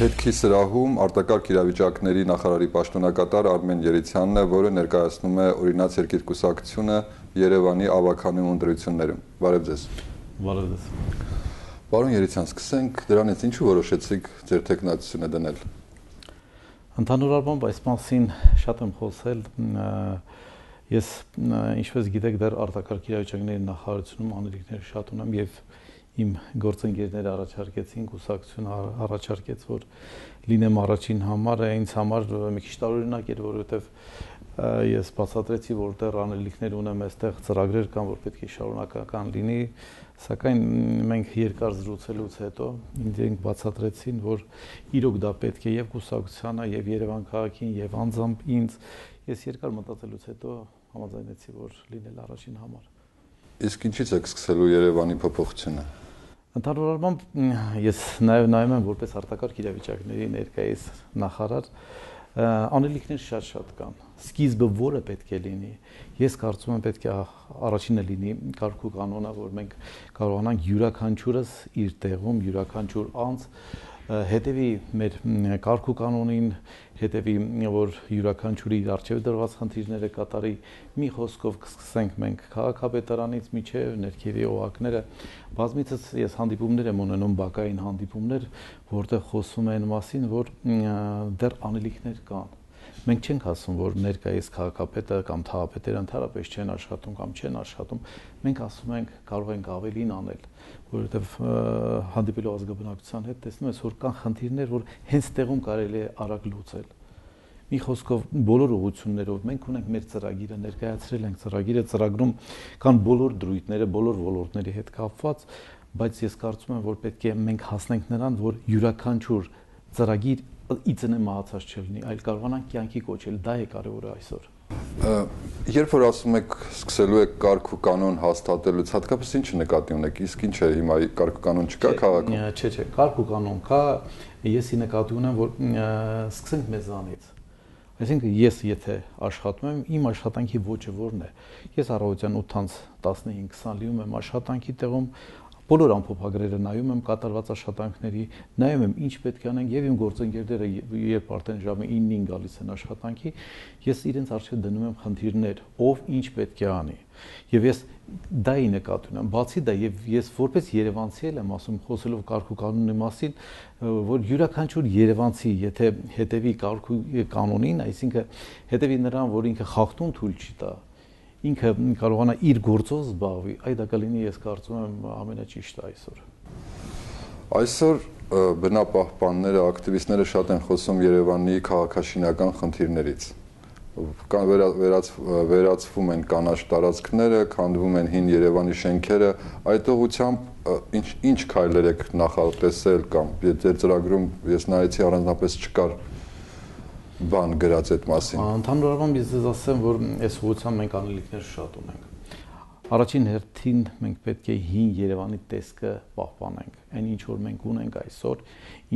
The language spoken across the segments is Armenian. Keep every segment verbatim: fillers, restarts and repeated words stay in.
Հետքի սրահում արտակարգ իրավիճակների նախարարի պաշտոնակատար Արմեն Երիցյանն է, որը ներկայացնում է օրինաց երկիր կուսակցությունը Երևանի ավագանու ընտրություններում։ Բարև ձեզ։ Բարև ձեզ։ Պարոն Երիցյան, սկսենք դրանից, ինչու որոշեցիք ձեր թեկնածությունը դնել։ Ընդհանուր առմամբ այս մասին շատ եմ խոսել։ Ես, ինչպես գիտեք, դեռ արտակարգ իրավիճակների նախարարությունում անելիքներ շատ ունեմ եւ իմ գործընկերները առաջարկեցին, կուսակցությունը առաջարկեց, որ լինեմ առաջին համարը, ինձ համար մի քիչ տարօրինակ էր, որովհետեւ ես բացատրեցի, որ դեռ անելիքներ ունեմ, այստեղ ծրագրեր կան, որ պետք է շարունակական լինի, սակայն մենք երկար զրուցելուց հետո ինձ բացատրեցին, որ իրոք դա պետք է եւ կուսակցությանը, եւ Երևան քաղաքին, եւ անձամբ ինձ։ Ես երկար մտածելուց հետո համաձայնեցի, որ լինել առաջին համար։ Իսկ ինչից եք սկսելու Երևանի փոփոխությունը։ Ընդհանուր առմամբ ես նաև նայում եմ որպես արտակարգ իրավիճակների ներկայիս նախարար, անելիքներ շատ-շատ կան։ Սկիզբը որը պետք է լինի։ Ես կարծում եմ պետք է առաջինը լինի կարգ ու կանոնը, որ մենք կարողանանք յուրաքանչյուրս իր տեղում, յուրաքանչյուր անձ հետևի մեր կարգ ու կանոնին, հետևի, որ յուրաքանչյուրի իր առջև դրված խնդիրները կատարի։ Մի խոսքով կսկսենք մենք քաղաքապետարանից մինչև ներքևի օղակները։ Բազմիցս ես հանդիպումներ եմ ունենում, բակային հանդիպումներ, որտեղ խոսում են մասին, որ դեռ անելիքներ կան։ Մենք չենք ասում, որ ներկայիս քաղաքապետը կամ թաղապետերը ընդհանրապես չեն աշխատում կամ չեն աշխատում։ Մենք ասում ենք կարող ենք ավելին անել, որովհետև հանդիպելով ազգաբնակչության հետ տեսնում ես, որ կան խնդիրներ, որ հենց տեղում կարելի է արագ լուծել։ Մի խոսքով բոլոր ուղղություններով մենք ունենք մեր ծրագիրը, ներկայացրել ենք ծրագիրը, ծրագրում կան բոլոր դրույթները, բոլոր ոլորտների հետ կապված, բայց ես կարծում եմ, որ պետք է մենք հասնենք նրան, որ յուրաքանչյուր ծրագիր իծնե մահացած չլինի, այլ կարողանանք կյանքի կոչել, դա է կարևորը այսօր։ Երբ որ ասում եք սկսելու եք կարգ ու կանոն հաստատելուց, հատկապես ինչ նկատի ունեք, իսկ ինչ է հիմա կարգ ու կանոն չկա քաղաքում։ Չէ, չէ, կարգ ու կանոն կա, ես ի նկատի ունեմ, որ սկսենք մեզանից։ Այսինքն ես եթե աշխատում եմ, իմ աշխատանքի ոճը որն է։ Ես առավոտյան ութից տասնհինգ քսան լինում եմ աշխատանքի տեղում, բոլոր ամփոփագրերը նայում եմ կատարված աշխատանքների, նայում եմ ինչ պետք է անենք եւ իմ գործընկերները երբ արդեն ժամը իննին գալիս են աշխատանքի, ես իրենց առջեւ դնում եմ խնդիրներ, ով ինչ պետք է անի։ Եվ ես դա ի նկատի ունեմ, բացի դա եւ ես որպես երևանցի եմ ասում, խոսելով կարգ ու կանոնի մասին, որ յուրաքանչյուր երևանցի, եթե հետևի կարգ ու կանոնին, այսինքն հետևի նրան, որ ինքը խախտում թույլ չի տա, ինքը կարողանա իր գործով զբաղվի, այդ դա կլինի, ես կարծում եմ, ամենաճիշտը այսօր։ Այսօր բնապահպանները, ակտիվիստները շատ են խոսում Երևանի քաղաքաշինական խնդիրներից։ Կան վերածվում են կանաչ տարածքները, քանդվում են հին Երևանի շենքերը, այդ ուղղությամբ ինչ ինչ քայլեր եք նախատեսել կամ ձեր ծրագրում ես նայեցի առանձնապես չկար բան գրած այդ մասին։ Ընդհանուր առմամբ ես ձեզ ասեմ, որ այս ուղղությամբ մենք անելիքներ շատ ունենք։ Առաջին հերթին մենք պետք է հին Երևանի տեսքը պահպանենք։ Այն ինչ որ մենք ունենք այսօր,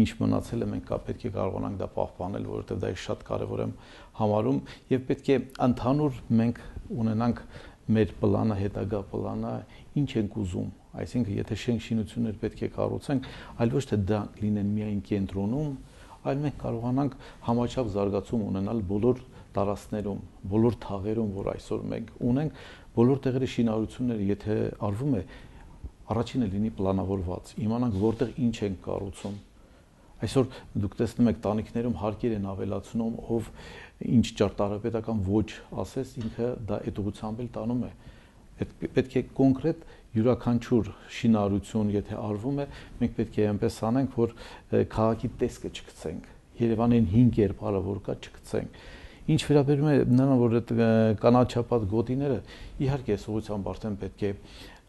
ինչ մնացել է, մենք պետք է կարողանանք դա պահպանել, որովհետև դա շատ կարևոր եմ համարում եւ պետք է ընդհանուր մենք ունենանք մեր պլանը, հետագա պլանը, ինչ ենք ուզում։ Այսինքն, եթե շենք շինություններ պետք է կառուցենք, այլ ոչ թե դա լինեն միայն կենտրոնում, այլ մենք կարողանանք համաչափ զարգացում ունենալ բոլոր տարածքներում, բոլոր թաղերում, որ այսօր մենք ունենք, բոլոր տեղերի շինարարությունները, եթե արվում է, առաջինը լինի պլանավորված, իմանանք որտեղ ինչ ենք կառուցում։ Այսօր դուք տեսնում եք տանիքներում հարկեր են ավելացնում, ով ինչ ճարտարապետական ոչ ասես, ինքը դա այդ ուղղությամբ էլ տանում է։ Պետք է կոնկրետ յուրաքանչյուր շինարարություն, եթե արվում է, մենք պետք է այնպես անենք, որ քաղաքի տեսքը չգցենք, Երևանին հին կերպարը որ կա չգցենք։ Ինչ վերաբերում է նրան, որ այդ կանաչապատ գոտիները, իհարկե այս ուղղությամբ արդեն պետք է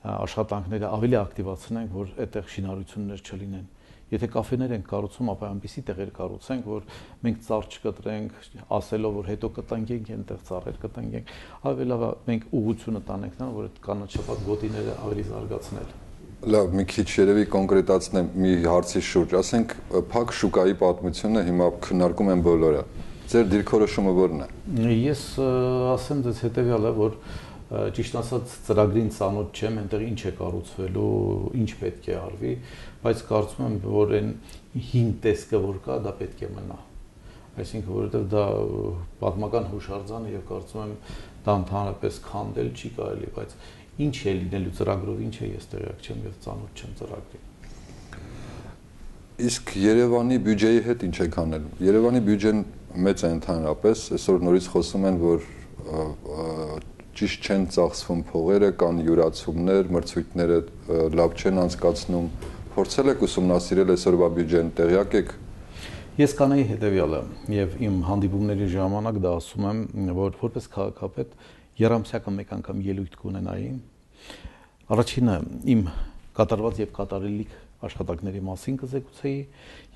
աշխատանքները ավելի ակտիվացնենք, որ այդտեղ շինարարություններ չլինեն։ Եթե կաֆեներ են կառուցում, ապա այնպիսի տեղեր կառուցենք, որ մենք ծառ չկտրենք, ասելով, որ հետո կտանգենք, այնտեղ ծառեր կտանգենք, ավելի լավ մենք ուղղությունը տանենք նրան, որ այդ կանաչապատ գոտիները ավելի զարգացնել։ Լավ, մի քիչ երևի կոնկրետացնեմ մի հարցի շուրջ, ասենք փակ շուկայի պատմությունը հիմա քննարկում են բոլորը։ Ձեր դիրքորոշումը ո՞րն է։ Ես ասեմ ձեզ հետևյալը, որ ճիշտ ասած ծրագրին ծանոթ չեմ, այնտեղ ինչ է կառուցվելու, ինչ պետք է արվի, բայց կարծում եմ, որ այն հին տեսքը որ կա, դա պետք է մնա։ Այսինքն, որովհետև դա պատմական հուշարձան է եւ կարծում եմ դա ընդհանրապես քանդել չի կարելի, բայց ինչ է լինելու ծրագրով, ինչ է ես տեղյակ չեմ եւ ծանոթ չեմ ծրագրին։ Իսկ Երևանի բյուջեի հետ ինչ եք անել։ Երևանի բյուջեն մեծ է ընդհանրապես, այսօր նորից խոսում են, որ ճիշտ չեն ծախսվում փողերը, կան յուրացումներ, մրցույթները լավ չեն անցկացնում։ Փորձել եք ուսումնասիրել այսօրվա բյուջեն, տեղյակ եք։ Ես կանեի հետևյալը եւ իմ հանդիպումների ժամանակ դա ասում եմ, որ որպես քաղաքապետ երամսյակը մեկ անգամ ելույթ կունենայի։ Առաջինը իմ կատարված եւ կատարելիք աշխատանքների մասին կզեկուցեի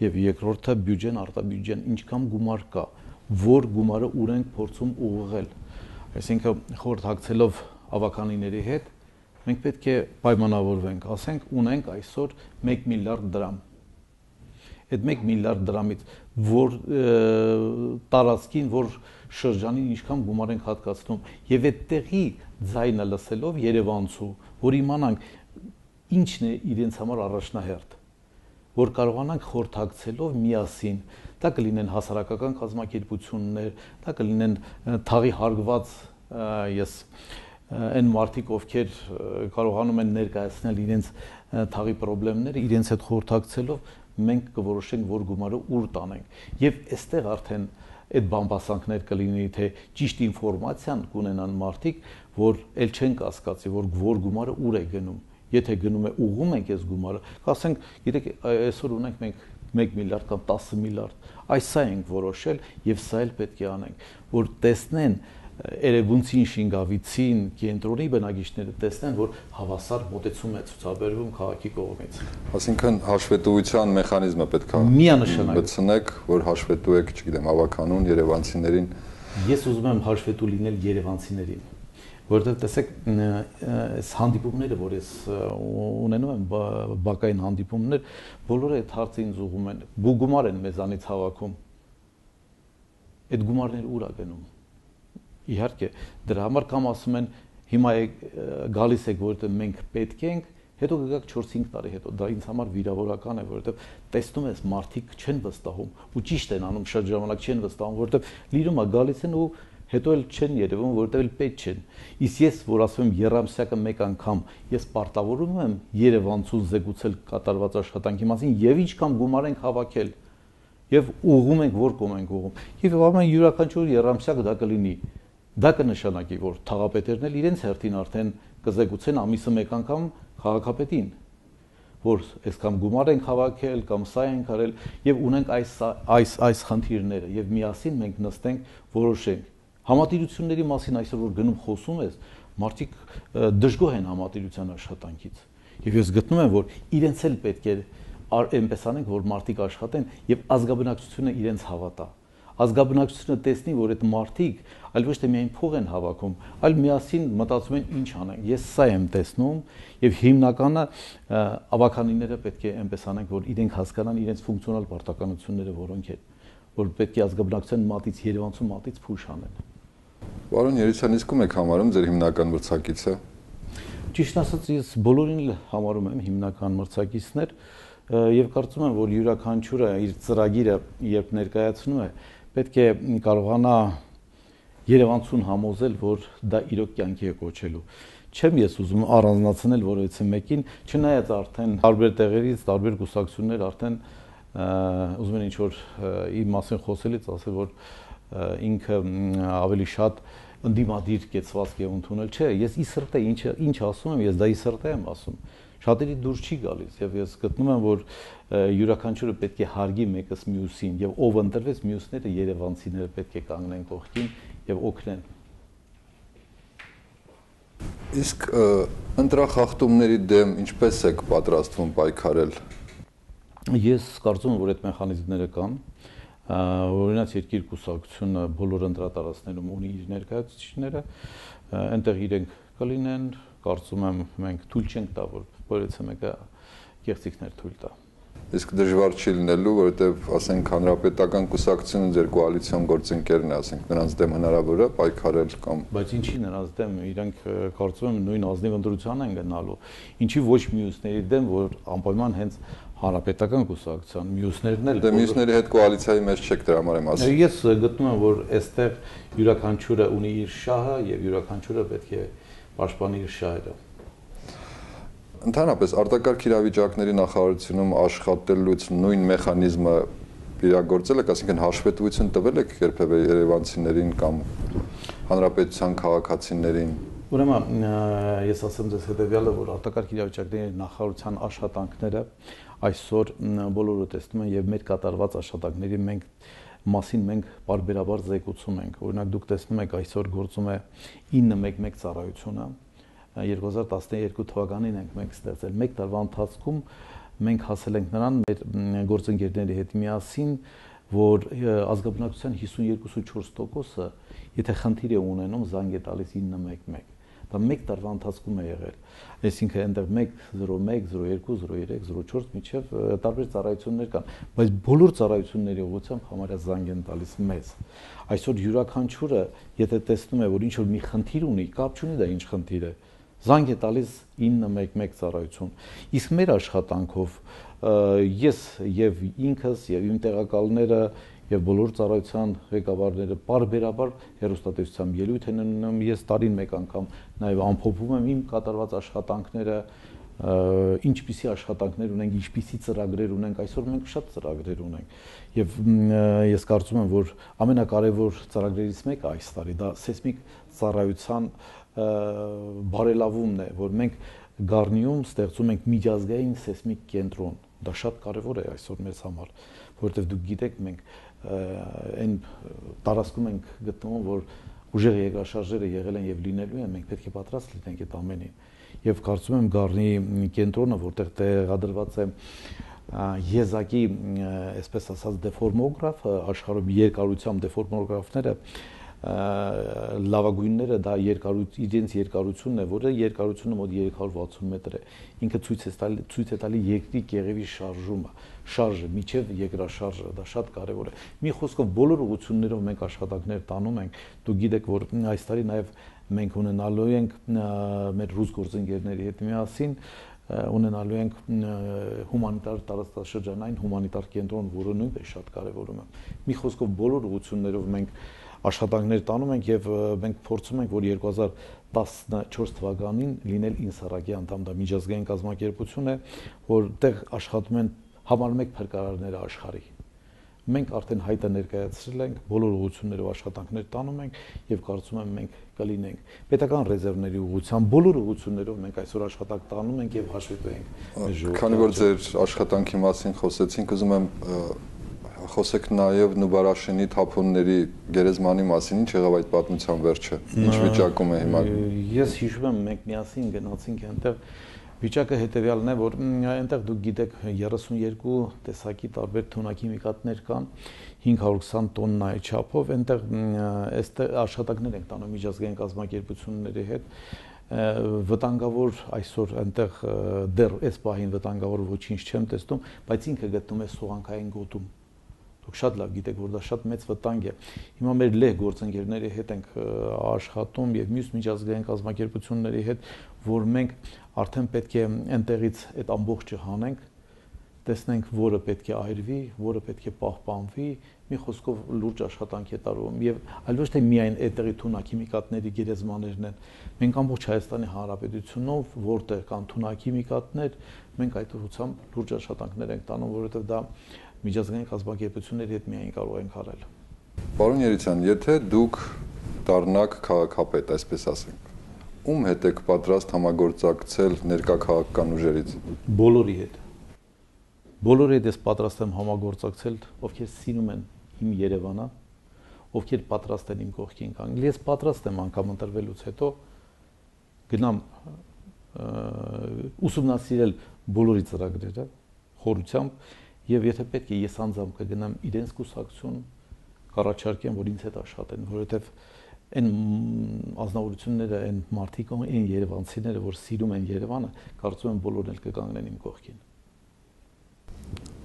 եւ երկրորդը բյուջեն, արտաբյուջեն ինչքան գումար կա, որ գումարը ուր ենք փորձում ուղղել։ Այսինքն խորհրդակցելով ավականիների հետ մենք պետք է պայմանավորվենք, ասենք ունենք այսօր մեկ միլիարդ դրամ։ Այդ մեկ միլիարդ դրամից որ տարածքին, որ շրջանին ինչքան գումար ենք հատկացնում եւ այդտեղի ձայնը լսելով Երևանցու, որ իմանանք ինչն է իրենց համար առաջնահերթ, որ կարողանանք խորհրդակցելով միասին, դա կլինեն հասարակական կազմակերպություններ, դա կլինեն թաղի հարգված ես այն մարդիկ, ովքեր կարողանում են ներկայացնել իրենց թաղի խնդիրները, իրենց հետ խորհրդակցելով մենք կորոշենք, որ գումարը ուր տանենք։ Եվ այստեղ արդեն այդ բամբասանքներ կլինի, թե ճիշտ ինֆորմացիան կունենան մարդիկ, որ ել չեն կասկածի, որ որ գումարը ուր է գնում։ Եթե գնում է ուղում ենք այս գումարը, ասենք, գիտեք, այսօր ունենք մենք մեկ միլիարդ կամ տասը միլիարդ, այս սա ենք որոշել եւ սա էլ պետք է անենք, որ տեսնեն Էրեբունցին, Շինգավիցին, կենտրոնի բնակիչները տեսնեն, որ հավասար մոտեցում է ցուցաբերվում քաղաքի կողմից։ Այսինքն հաշվետվության մեխանիզմը պետք է միանշանակ բցնեք, որ հաշվետու եք, չգիտեմ, ավականուն երևանցիներին։ Ես ուզում եմ հաշվետու լինել երևանցիներին, որովհետև տեսեք, այս հանդիպումները, որ ես ունենում եմ, բակային հանդիպումներ, բոլորը այդ հարցը ինձ ուղղում են, գումար են մեզանից հավաքում։ Այդ գումարները ուր է գնում։ Իհարկե, դրա համար կամ ասում են, հիմա գալիս եք, որովհետև մենք պետք ենք, հետո կգաք չորս-հինգ տարի հետո, դա ինձ համար վիրավորական է, որովհետև տեսնում ես մարդիկ չեն վստահում, ու ճիշտ են անում, շատ ժամանակ չեն վստահում, որովհետև լիրում է գալիս են ու հետո էլ չեն երևում, որովհետև էլ պետք չեն։ Իսկ ես, որ ասում եմ երամսյակը մեկ անգամ, ես պարտավորում եմ Երևանցուն զեկուցել կատարված աշխատանքի մասին եւ ինչքան գումար ենք հավաքել եւ ուղղում ենք որ կողմ ենք ուղղում։ Եվ ամեն յուրաքանչյուր երամսյակ դա կլինի։ Դա կնշանակի, որ թաղապետերն էլ իրենց հերթին արդեն կզեկուցեն ամիսը մեկ անգամ քաղաքապետին, որ այսքան գումար ենք հավաքել կամ սա ենք արել եւ ունենք այս այս այս խնդիրները եւ միասին մենք նստենք որոշենք։ Համատիրությունների մասին այսօր որ գնում խոսում ես, մարդիկ դժգոհ են համատիրության աշխատանքից։ Եվ ես գտնում եմ, որ իրենց էլ պետք է այնպես անենք, որ մարդիկ աշխատեն եւ ազգաբնակչությունը իրենց հավատա։ Ազգաբնակչությունը տեսնի, որ այդ մարդիկ այլ ոչ թե միայն փող են հավաքում, այլ միասին մտածում են ինչ անենք։ Ես սա եմ տեսնում եւ հիմնականը ավականիները պետք է այնպես անենք, որ իրենք հասկանան իրենց ֆունկցիոնալ պարտականությունները որոնք են, որ պետք է ազգաբնակչության մատից Երևանցու մատից փուշ անեն։ Պարոն Երիցյան, իսկ ում եք համարում ձեր հիմնական մրցակիցը։ Ճիշտ ասած, ես բոլորին համարում եմ հիմնական մրցակիցներ եւ կարծում եմ, որ յուրաքանչյուրը իր ծրագիրը երբ ներկայացնում է, պետք է կարողանա Երևանցուն համոզել, որ դա իրոք կյանքի է կոչելու։ Չեմ ես ուզում առանձնացնել որևիցե մեկին, չնայած արդեն տարբեր տեղերից, տարբեր կուսակցություններ արդեն ուզում են ինչ-որ իմ մասին խոսելից ասել, որ ինքը ավելի շատ ընդդիմադիր կեցվածք է ընդունել, չէ, ես ի սրտե ինչ ինչ ասում եմ, ես դա ի սրտե եմ ասում։ Շատերի դուրս չի գալիս եւ ես գտնում եմ, որ յուրաքանչյուրը պետք է հարգի մեկս մյուսին եւ ով ընտրվեց մյուսները երևանցիները պետք է կանգնեն կողքին եւ օգնեն։ Իսկ ընտրախախտումների դեմ ինչպես եք պատրաստվում պայքարել։ Ես կարծում եմ, որ այդ մեխանիզմները կան, օրինակ երկիր կուսակցությունը բոլոր ընտրատարածքներում ունի իր ներկայացուցիչները, այնտեղ իրենք կլինեն, կարծում եմ մենք թույլ չենք տա, որ որևէ մեկը կեղծիքներ թույլ տա։ Իսկ դժվար չի լինելու, որովհետև ասենք հանրապետական կուսակցությունը ձեր կոալիցիոն գործընկերն է, ասենք նրանց դեմ հնարավոր է պայքարել կամ բայց ինչի նրանց դեմ իրենք կարծում եմ նույն ազնիվ ընտրության են գնալու, ինչի ոչ մյուսների դեմ, որ անպայման հենց հանրապետական կուսակցության մյուսներն էլ դե մյուսների հետ կոալիցիայի մեջ չեք դրա համար եմ ասում։ Ես գտնում եմ, որ այստեղ յուրաքանչյուրը ունի իր շահը եւ յուրաքանչյուրը պետք է պաշտպանի իր շահերը։ Ընդհանրապես արտակարգ իրավիճակների նախարարությունում աշխատելուց նույն մեխանիզմը իրագործել եք, այսինքն հաշվետվություն տվել եք երբևէ երևանցիներին կամ հանրապետության քաղաքացիներին։ Ուրեմն ես ասեմ ձեզ հետեւյալը, որ արտակարգ իրավիճակների նախարարության աշխատանքները այսօր բոլորը տեսնում են եւ մեր կատարված աշխատանքների մենք մասին մենք բարբերաբար զեկուցում ենք։ Օրինակ դուք տեսնում եք այսօր գործում է ինը մեկ մեկ ծառայությունը երկու հազար տասներկու թվականին ենք մենք ստեղծել։ Մեկ տարվա ընթացքում մենք հասել ենք նրան մեր գործընկերների հետ միասին, որ ազգաբնակչության հիսունյոթ կόμμα չորս տոկոսը եթե խնդիր է ունենում զանգ է տալիս ինը մեկ մեկ։ Դա մեկ տարվա ընթացքում է եղել։ Այսինքն այնտեղ մեկ զրո մեկ, զրո երկու, զրո երեք, զրո չորս միջև տարբեր ծառայություններ կան, բայց բոլոր ծառայությունների ուղղությամբ համարյա զանգ են տալիս մեզ։ Այսօր յուրաքանչյուրը, եթե տեսնում է, որ ինչ որ մի խնդիր ունի, կապ չունի դա ինչ խնդիր է, զանգ է տալիս ինը մեկ մեկ ծառայություն։ Իսկ մեր աշխատանքով ես եւ ինքս եւ իմ տեղակալները եւ բոլոր ծառայության ղեկավարները բարբերաբար հերոստատեսությամբ ելույթ են ունենում, ես տարին մեկ անգամ նաեւ ամփոփում եմ իմ կատարված աշխատանքները, ինչպիսի աշխատանքներ ունենք, ինչպիսի ծրագրեր ունենք, այսօր մենք շատ ծրագրեր ունենք եւ ես կարծում եմ, որ ամենակարևոր ծրագրերից մեկը այս տարի դա սեյսմիկ ծառայության բարելավումն է, որ մենք Գառնիում ստեղծում ենք միջազգային սեյսմիկ կենտրոն։ Դա շատ կարևոր է այսօր մեզ համար, որովհետև դուք գիտեք, մենք այն տարածքում ենք գտնվում, որ ուժեղ երկրաշարժերը եղել են եւ լինելու են, մենք պետք է պատրաստ լինենք այդ ամենին։ Եվ կարծում եմ Գառնի կենտրոնը, որտեղ տեղադրված է եզակի, այսպես ասած, դեֆորմոգրաֆը, աշխարհում երկարությամբ դեֆորմոգրաֆները լավագույնները դա երկարություն իրենց երկարությունն է, որը երկարությունը մոտ երեք հարյուր վաթսուն մետր է։ Ինքը ցույց է տալի ցույց է տալի երկրի կեղևի շարժումը, շարժը միջև երկրաշարժը, դա շատ կարևոր է։ Մի խոսքով բոլոր ուղղություններով մենք աշխատանքներ տանում ենք։ Դուք գիտեք, որ այս տարի նաև մենք ունենալու ենք մեր ռուս գործընկերների հետ միասին ունենալու ենք հումանիտար տարածաշրջանային հումանիտար կենտրոն, որը նույնպես շատ կարևորում է։ Մի խոսքով բոլոր ուղղություններով մենք աշխատանքներ տանում ենք եւ մենք փորձում ենք, որ երկու հազար տասնչորս թվականին լինել ինսարակի անդամ, դա միջազգային կազմակերպություն է, որտեղ աշխատում են համար մեկ փրկարարները աշխարհի։ Մենք արդեն հայտը ներկայացրել ենք, բոլոր ուղղություններով աշխատանքներ տանում ենք եւ կարծում եմ մենք կլինենք պետական ռեզերվների ուղղությամբ բոլոր ուղղություններով մենք այսօր աշխատանք տանում ենք եւ հաշվետու ենք։ Քանի որ ձեր աշխատանքի մասին խոսեցինք, ուզում եմ խոսեք նաև Նուբարաշենի թափոնների գերեզմանի մասին, ինչ եղավ այդ պատմության վերջը, ինչ վիճակում է հիմա։ Ես հիշում եմ, մենք միասին գնացինք այնտեղ, վիճակը հետեւյալն է, որ այնտեղ դուք գիտեք երեսունյոթ տեսակի տարբեր թունաքիմիկատներ կան, հինգ հարյուր քսան տոննայի չափով, այնտեղ այստեղ աշխատանքներ ենք տանում միջազգային կազմակերպությունների հետ, վտանգավոր այսօր այնտեղ դեռ այս պահին վտանգավոր ոչինչ չեմ տեսնում, բայց ինքը գտնում է սուղանքային գոտում։ Դուք շատ լավ գիտեք, որ դա շատ մեծ վտանգ է։ Հիմա մեր լեհ գործընկերների հետ ենք աշխատում եւ մյուս միջազգային կազմակերպությունների հետ, որ մենք արդեն պետք է այնտեղից այդ ամբողջը հանենք, տեսնենք, որը պետք է այրվի, որը պետք է պահպանվի, մի խոսքով լուրջ աշխատանք է տարվում եւ այլ ոչ թե միայն այդտեղի թունաքիմիկատների գերեզմաներն են։ Մենք ամբողջ Հայաստանի Հանրապետությունով, որտեղ կան թունաքիմիկատներ, մենք այդ ուղղությամբ լուրջ աշխատանքներ ենք տանում, որովհետեւ դա միջազգային կազմակերպությունների հետ միայն կարող ենք արել։ Պարոն Երիցյան, եթե դուք դառնաք քաղաքապետ, այսպես ասենք, ում հետ եք պատրաստ համագործակցել ներկա քաղաքական ուժերից։ Բոլորի հետ։ Բոլորի հետ ես պատրաստ եմ համագործակցել, ովքեր սիրում են իմ Երևանը, ովքեր պատրաստ են իմ կողքին կանգնել։ Ես պատրաստ եմ անգամ ընտրվելուց հետո գնամ ուսումնասիրել բոլորի ծրագրերը խորությամբ եւ եթե պետք է ես անձամբ կգնամ իրենց կուսակցություն կառաջարկեմ, որ ինձ հետ աշխատեն, որովհետեւ այն ազնվորությունները, այն մարդիկ, այն երևանցիները, որ սիրում են Երևանը, կարծում եմ բոլորն էլ կկանգնեն իմ կողքին։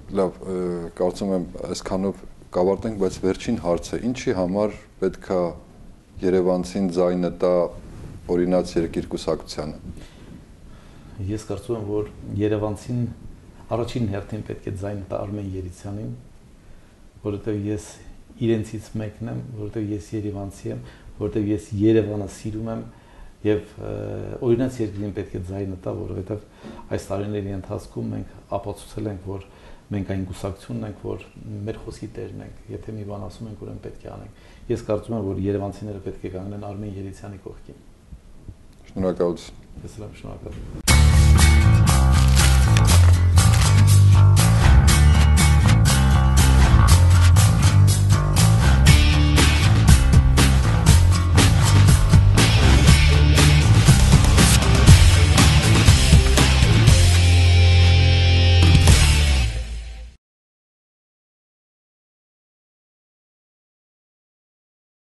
Լավ, կարծում եմ այսքանով կավարտենք, բայց վերջին հարցը, ինչի համար պետք է երևանցին ձայնը տա օրինաց երկիր կուսակցությանը։ Ես կարծում եմ, որ երևանցին առաջին հերթին պետք է ձայնը տա Արմեն Երիցյանին, որովհետև ես իրենցից մեկն եմ, որովհետև ես երևանցի եմ, որովհետև ես Երևանը սիրում եմ եւ օրինաց երկրին պետք է ձայնը տա, որովհետև այս տարիների ընթացքում մենք ապացուցել ենք, որ մենք այն կուսակցությունն ենք, որ մեր խոսքի տերն ենք, եթե մի բան ասում ենք, ուրեմն պետք է անենք։ Ես կարծում եմ, որ երևանցիները պետք է կանգնեն Արմեն Երիցյանի կողքին։ Շնորհակալություն։ Ես էլ եմ շնորհակալ։